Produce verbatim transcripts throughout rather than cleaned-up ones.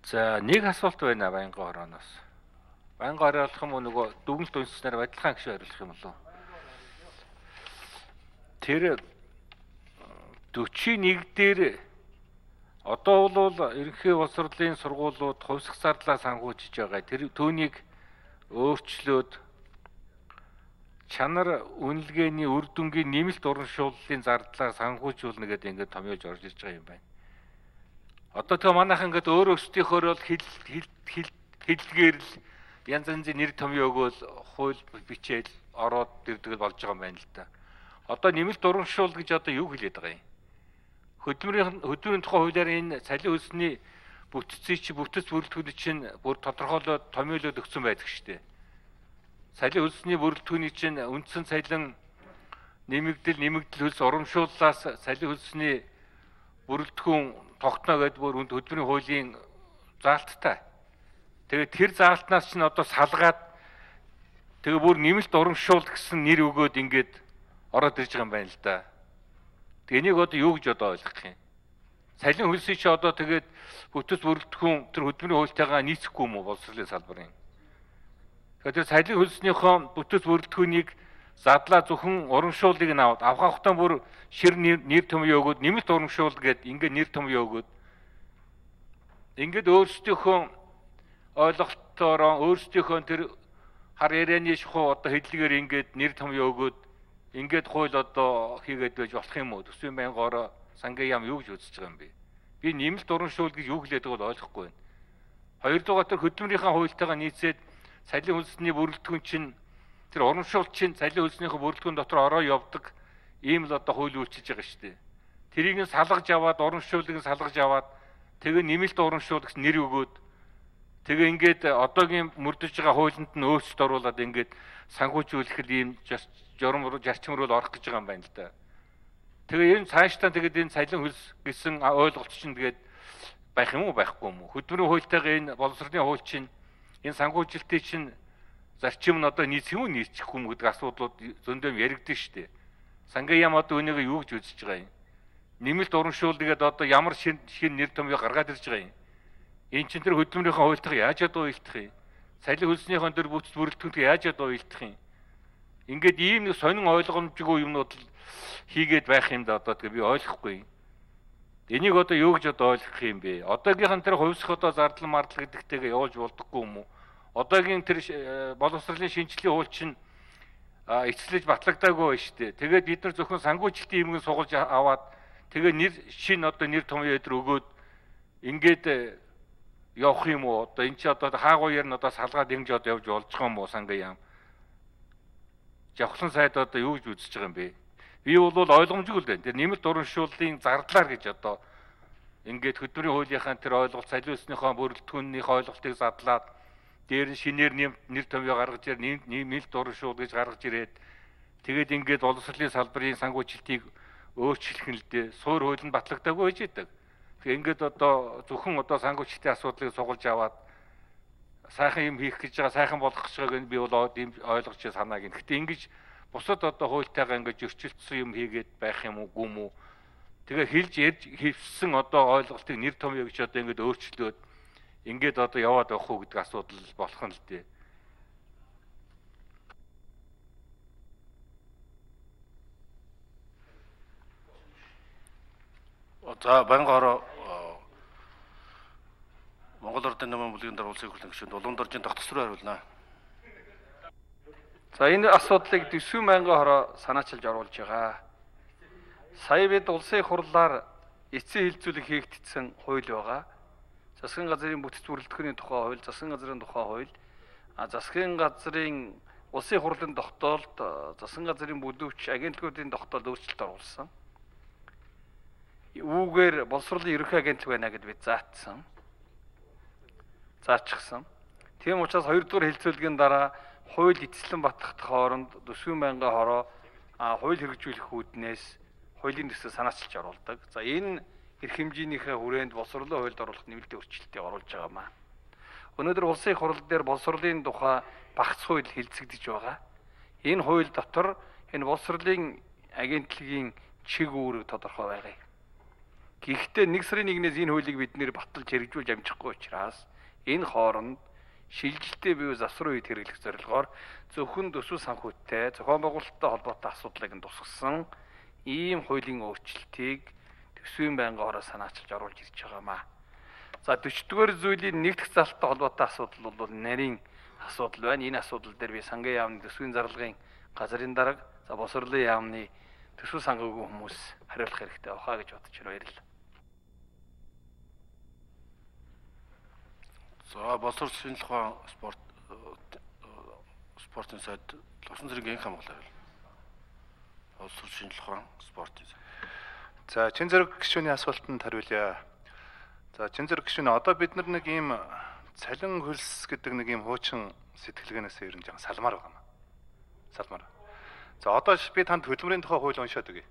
За нэг асуулт байна Баянгын хорооноос. Баянгын хороо болох юм уу нөгөө дүгнэлт үндэснээр адилхан гişүү хариулах юм болов? Тэр forty-one дээр одоо бол ерөнхий боловсролын сургуулиуд хувьсах зардлаа санхүүжиж байгаа. Тэр түүнийг өөрчлөөд чанар үнэлгээний үр дүнгийн нэмэлт урамшууллын зардлаар санхүүжүүлнэ гэдэг ингээд томьёож орж ирж байгаа юм байна. Одоо тэгээ манайхан ингээд өөр өөрсдийнхөө л хэл хэллэгээр л янз янзын нэр томьёо өгөөл хууль бичээл ороод ирдэг болж байгаа юм байна л да. Одоо нэмэлт урамшуул гэж одоо юу хэлээд байгаа юм? Хөдөлмөрийн хөдөлмөрийн тухай хуулиар энэ цалин хөлсний бүтцийг чи бүтэц бүрэлдэхүүн чинь бүр тодорхойлоод томьёолоод өгсөн байдаг шүү дээ. Цалин хөлсний бүрэлдэхүүний чинь үндсэн цалин нэмэгдэл нэмэгдэл хөлс урамшууллаас цалин хөлсний бүрэлдэхүүн тогтноо гэдэг бүр хөдөлмөрийн хуулийн заалттай. Тэгээд тэр заалтнаас чинь одоо салгаад тэгээ бүр нэмэлт урамшуул гэсэн нэр өгөөд ингээд ороод ирж байгаа юм байна л да. Тэгээ энийг одоо юу гэж одоо ойлгох юм? Цалин хөлсийг чи одоо тэгээд бүтэц бүрэлдэхүүн тэр хөдөлмөрийн хуультайгаа нийцэхгүй юм уу боловсролын салбарын? Тэгэхээр цалин хөлснийхөө бүтэц бүрэлдэхүүнийг задлаа зөвхөн урамшууллыг нь аваад авах хутан бүр шир нэр томьёо өгөөд нэмэлт урамшуул гээд ингээд нэр томьёо өгөөд ингээд өөрсдийнхөө ойлголтоороо өөрсдийнхөө тэр хар ярианы шухуу одоо хэдлэгээр ингээд нэр томьёо өгөөд ингээд хууль одоо хийгээд байж болох юм уу? Төсвийн байнгаараа сангийн яам юу гэж үзэж байгаа юм бэ? Би нэмэлт урамшуул гэж юу хэлээд байгааг ойлгохгүй байна. Хоёрдугаар тэр хөдөлмөрийнхаа хуультайгаа нийцээд цалин хөлсний бүрэлдэхүүн чинь тэр урамшуул чинь цалин хөлснийхөө бүрэлдэхүүн дотор ороо явдаг ийм л одоо хууль үйлчилж байгаа шүү дээ. Тэрийг нь салгаж аваад урамшуулыг нь салгаж аваад тэгээ нэмэлт урамшуул гэсэн нэр өгөөд тэгээ ингээд одоогийн мөрдөж байгаа хуулинд нь өөрчлөлт оруулаад ингээд санхүүжүүлэх ийм журам зарчим руу орох гэж байгаа юм байна л да. Тэгээ энэ цаашдаа тэгээд энэ цалин хөлс гэсэн ойлголт чинь тэгээд байх юм уу байхгүй юм уу? Хөдөлмөрийн хуультайгаа энэ боловсролын хууль чинь энэ санхүүжилтийн чинь зарчим нь одоо нийцэх юм уу нийцэхгүй юм гэдэг асуудлууд зөндөө яригдсан шүү дээ. Сангийн яам одоо үнийг юу гэж үзэж байгаа юм? Нэмэлт урамшуул гэдэг одоо ямар шин шин нэр томьёо гаргаад ирж байгаа юм? Энэ чинь тэр хөдөлмөрийнхөө хуультайгаа яаж одоо уялдах юм? Цалин хөлснийхөө тэр бүтэц бүрэлдэхүүнтэй яаж одоо уялдах юм? Ингээд ийм нэг сонин ойлгомжгүй юмнууд л хийгээд байх юм да одоо тэгээ би ойлгохгүй. Энийг одоо юу гэж одоо ойлгох юм бэ? Одоогийнх нь тэр хувьсах одоо зардал мардал гэдэгтэйгээ явуулж болдоггүй юм уу? Одоогийн тэр боловсролын шинжилгээ хууль чинь эцэслэж батлагдаагүй байна шүү дээ. Тэгээд бид нар зөвхөн санхүүжилтийн юмыг сугалж аваад тэгээ нэр шин одоо нэр томьёо өдр өгөөд ингээд явах юм уу? Одоо эн чи одоо хаагууяар нь одоо салгаад ингэж одоо явж болж байгаа юм уу сангийн яам? Жавхлан сайд одоо юу гэж үзэж байгаа юм бэ? Би бол ойлгомжгүй л байна. Тэр нэмэлт урамшууллын зардлаар гэж одоо ингээд хөдөлмөрийн хуулийнхаа тэр ойлголт цалин хөлснийхөө бүрэлдэхүүнийх ойлголтыг задлаад дээр нь шинээр нэр томьёо гаргаж ирээд нэмэлт урамшуул гэж гаргаж ирээд тэгээд ингээд боловсролын салбарын санхүүжилтийг өөрчлөх нь л дээ. Суур хууль нь батлагдаагүй байж идэг. Тэгээ ингээд одоо зөвхөн одоо санхүүжилтийн асуудлыг сугалж аваад сайхан юм хийх гэж байгаа, сайхан болох гэж байгааг нь би бол ийм ойлгож санааг нь. Гэхдээ ингэж бусад одоо хуультайгаа ингэж зөрчилдсөн юм хийгээд байх юм уу, гүм үү? Тэгээ хэлж ярьж хөвсөн одоо ойлголтыг нэр томьёо гэж одоо ингэж өөрчлөөд ингээд одоо яваад явах уу гэдэг асуудал болох нь л дээ. За Баянгын хороо Монгол Ордын намын бүлгийн дараа улсын хурлын гишүүнд Улаан доржийн тогтцол руу хариулнаа. За энэ асуудлыг Төсвийн байнгын хороо санаачилж оруулж байгаа. Сая бид улсын хурлаар эцсийн хилцүүлэг хийгдсэн хууль байгаа. Засгийн газрын бүтэц бүрэлдэхүүний тухай хууль, засгийн газрын тухай хууль, а засгийн газрын улсын хурлын тогтоолд засгийн газрын бүлэвч агентлагуудын тогтоолд өөрчлөлт оруулсан. Үүгээр боловсролын ерөнхий агентлаг байна гэд бид заатсан. Заачихсан. Тийм учраас хоёрдугаар хэлцүүлгийн дараа хууль эцэслэн батлах хооронд Төсвийн байнгын хороо хууль хэрэгжүүлэх үүднээс хуулийн төсөө санаачилж оруулдаг. За энэ эрх хэмжээнийхээ хүрээнд боловсролын хуульд оруулах нэмэлтийн өөрчлөлтийг оруулж байгаамаа. Өнөөдөр улсын хурал дээр боловсролын тухай багц хууль хэлцэгдэж байгаа. Энэ хууль дотор энэ боловсролын агентлагийн чиг үүрэг тодорхой байгаа. Гэхдээ нэг сарын нэгнээс энэ хуулийг бид нэр баталж хэрэгжүүлж амжихгүй учраас энэ хооронд шилжилттэй бие засвар үед хэрэглэх зорилгоор зөвхөн төсөв санхүүтэй зохион байгуулалттай холбоотой асуудлыг нь тусгасан ийм хуулийн өөрчлөлтийг төсвийн байнгын хороо санаачилж оруулж ирж байгаамаа. За дөрвөн дугаар зүйлийн нэг дахь залттай холбоотой асуудал бол нарийн асуудал байна. Энэ асуудал дээр би сангийн яамны төсвийн зарлагын газрын дарга, за босрлын яамны төсөв санхүүгийн хүмүүс хариулах хэрэгтэй бахаа гэж бодож байна. Баярлалаа. За боловсрол шинжилх ухаан спорт спортын сайд Лувсан зэргийн хамгаалал. Боловсрол шинжилх ухаан спортын сайд. За чин зэрэг гишүүний асуултанд хариулъя. За чин зэрэг гишүүн одоо бид нар нэг ийм цалин хөлс гэдэг нэг ийм хуучин сэтгэлгээнээс ер нь жаа салмаар байгаа юм. Салмаар. За одоо би танд хөдөлмөрийн тухай хууль уншаад өгье.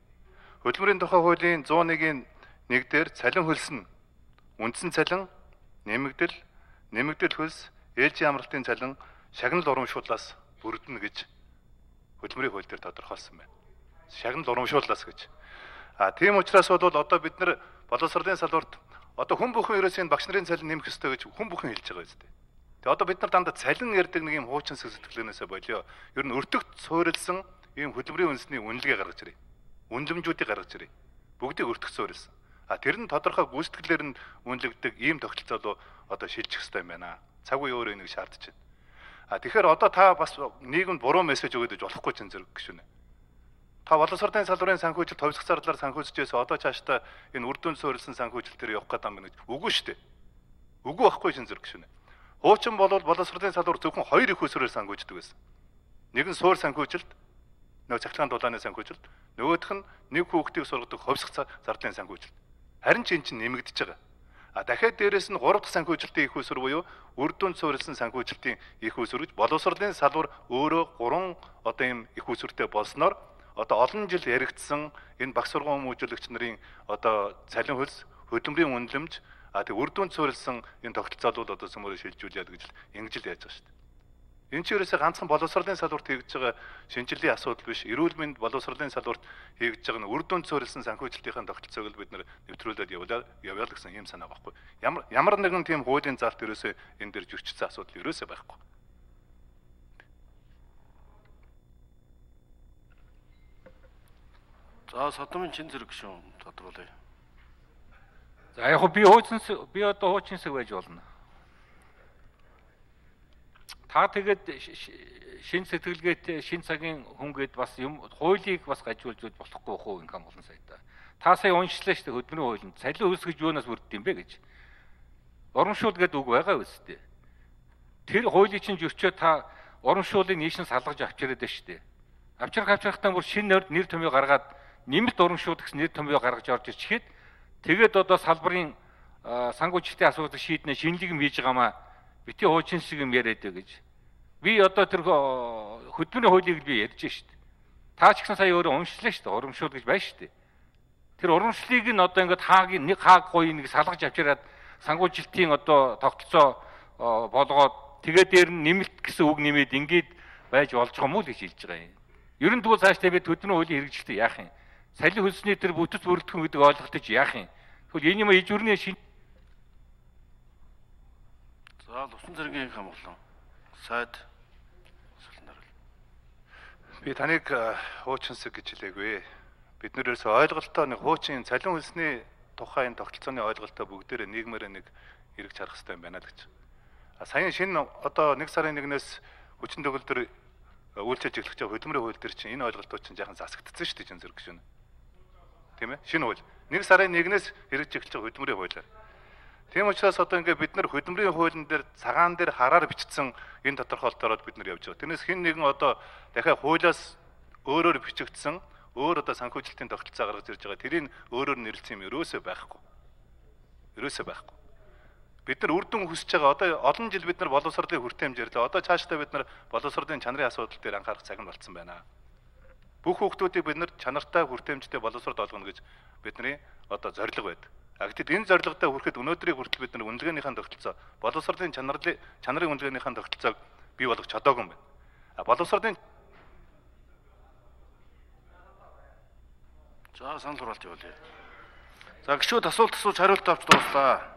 Хөдөлмөрийн тухай хуулийн зуун нэгний нэг дээр цалин хөлс нь үндсэн цалин, нэмэгдэл, нэмэгдэл хөлс, ээлжийн амралтын цалин шагнал урамшууллаас бүрдэнэ гэж хөдөлмөрийн хууль дээр тодорхойлсон байна. Шагнал урамшууллаас гэж. А тийм учраас бол одоо бид нар боловсролын салбарт одоо хүн бүхэн ерөөсөө багш нарын цалин нэмэх ёстой гэж хүн бүхэн хэлж байгаа үстэй. Тэгээ одоо бид нар дандаа цалин ярьдаг нэг юм хуучин сэтгэлгээнээсээ болио. Ер нь өртөгт суурилсан ийм хөдөлмөрийн үндэсний үнэлгээ гаргаж ирээ. Үнэлэмжүүдийг гаргаж ирээ. Бүгдийг өртөгт суурилсан. А тэр нь тодорхой гүйцэтгэлээр нь үнэлэгддэг ийм тогтолцоо одоо шилжих ёстой юм байна. Цаг үе өөрөө энийг шаардж байна. А тэгэхээр одоо та бас нийгэмд буруу мессеж өгөөд иж болохгүй ч зэрэг гişүнэ. Та боловсролын салбарын санхүүжилт товсох зардлаар санхүүжижээс одоо цаашдаа энэ үр дүнд суурилсан санхүүжилт төр явах гэдэг юм байна гэж. Үгүй шүү дээ. Үгүй байхгүй шин зэрэг гişүнэ. Хуучин бол боловсролын салбар зөвхөн хоёр их усрээр санхүүждэг байсан. Нэг нь суур санхүүжилт, нөгөө цахилгаан дулааны санхүүжилт, нөгөөх нь нэг хүүхдийг сургадаг ховсох зардлын санхүүжилт. Харин ч эн чинь нэмэгдэж байгаа. А дахиад дээрэс нь гурав дахь санхүүжилтийн их уср буюу үр дүнд суурилсан санхүүжилтийн их уср гэж боловсролын салбар өөрөө гурван одоо ийм их усртэй болсноор одоо олон жил яригдсан энэ багш сургууль хүмүүжүүлэгч нарын одоо цалин хөлс, хөдөлмөрийн үнэлэмж, а тэг үр дүнд суурилсан энэ тогтолцоол бол одоо сүмөрөөр шилжүүлээд гэж ингэж л яаж байгаа шүү дээ. Энэ ч ерөөсөө ганцхан боловсролын салбарт хийж байгаа шинжилгээ асуудал биш. Эрүүл мэнд боловсролын салбарт хийж байгаа нь үр дүнд суурилсан санхүүжилтийн тогтолцоог л бид нар нэвтрүүлээд явуулаад явъя л гэсэн юм санаа байхгүй. Ямар ямар нэгэн тийм хуулийн заалт ерөөсөө энэ дээр зөрчилсөн асуудал ерөөсөө байхгүй. За содомын чин зэрэг гişүүн тодруулъя. За яг би хуучин би одоо хуучин хэсэг байж болно. Та тэгээд шин сэтгэлгээтэй шин цагийн хүн гээд бас юм хуулийг бас гажуулж болохгүй хөө инкам болон сайдаа. Та сая уншлаа шүү дээ хөдөлмөрийн хуулинд. Цалин хөлс гэж юунаас бүрддэг юм бэ гэж. Урамшуул гэдэг үг байгаа үстэй. Тэр хуулийн чинь зөрчөө та урамшуулыг нийшин салгаж авчираад байна шүү дээ. Авчрах авчрахтаа бүр шин нэр томьёо гаргаад нэмэлт урамшуул гэсэн нэр томьёо гаргаж орж ирчихэд тэгээд одоо салбарын санхүүжилтийн асуудал шийднэ шинэлэг юм хийж байгаамаа бити хуучин шиг юм яриад бай гэж. Би одоо тэр хөдөлмөрийн хуулийг би ярьж шүү дээ. Та ч гэсэн сая өөрөө уншлаа шүү дээ. Урамшуул гэж байна шүү дээ. Тэр урамшлыг нь одоо ингээд хаагийн нэг хааг гоё нэг салгаж авчираад санхүүжилтийн одоо тогтолцоо болгоод тэгээд дээр нь нэмэлт гэсэн үг нэмээд ингээд байж болж байгаа юм уу гэж хэлж байгаа юм. Ер нь тэгвэл цаашдаа бид хөдөлмөрийн хуулийн хэрэгжилтэд яах юм? Салин хөлсний тэр бүтэц бүрэлдэхүүн гэдэг ойлголтыг яах юм? Тэгвэл энэ юм ижүүрний шин. За Лувсан зэргийн хамгаалал. Сайд би таныг хуучинсаг гэж хэлээгүй. Бид нэр ерөөсөө ойлголтоо нэг хуучин цалин хөлсний тухайн тогтолцооны ойлголтоо бүгдээрээ нийгмээр нэг эргэж харах хэрэгтэй юм байна л гэж. А саяхан шинэ одоо нэг сарын нэгнээс хүчин төгөлдөр үйлчилж эхлэх байгаа хөдөлмөрийн хууль дээр чинь энэ ойлголтууд чинь жаахан засагдсан шүү дээ чин зэрэг гişүн. Тийм ээ? Шинэ хууль. нэг сарын нэгнээс хэрэгжиж эхэлж байгаа хөдөлмөрийн хуулиар. Тийм учраас одоо ингээд бид нар хөдөлмөрийн хуулийн дээр цагаан дээр хараар бичсэн энэ тодорхойлолтоор бид нар явж байгаа. Тэрнээс хэн нэгэн одоо дахиад хуулиас өөрөөр бичигдсэн өөр одоо санхүүжилтийн тогтолцоо гаргаж ирж байгаа. Тэрийг өөрөөр нэрлэлсэн юм ерөөсөө байхгүй. Ерөөсөө байхгүй. Бид нар үр дүн хүсэж байгаа. Одоо олон жил бид нар боловсролын хүртээмж ярьлаа. Одоо цаашдаа бид нар боловсролын чанарын асуудал дээр анхаарах цаг нь болцсон байна. Бүх хүүхдүүдийг бид нар чанартай хүртээмжтэй боловсрол олгоно гэж бидний одоо зорилго байдаг. А гэтэл энэ зорилготой хүрэхэд өнөөдрийг хүртэл бид нар үнэлгээнийхэн тогтолцоо боловсролын чанарын чанарын үнэлгээнийхэн тогтолцоог бий болгож чадаагүй юм байна. А боловсролын За санал хураалт явуулъя. За гişүүд асуулт асууж хариулт авч дууслаа.